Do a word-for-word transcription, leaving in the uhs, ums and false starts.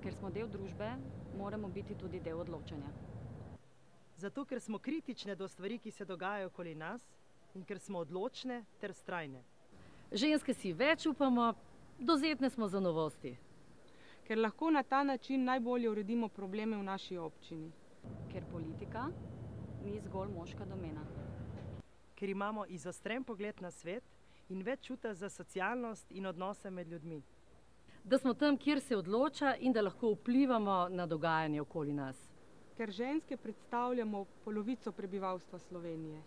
Ker smo del družbe, moramo biti tudi del odločanja. Zato, ker smo kritične do stvari, ki se dogajajo okoli nas, in ker smo odločne ter vztrajne. Ženske si več upamo, dovzetne smo za novosti. Ker lahko na ta način najbolje uredimo probleme v naši občini. Ker politika ni zgolj moška domena. Ker imamo izostren pogled na svet in več čuta za socialnost in odnose med ljudmi. Da smo tam, kjer se odloča in da lahko vplivamo na dogajanje okoli nas. Ker ženske predstavljamo polovico prebivalstva Slovenije.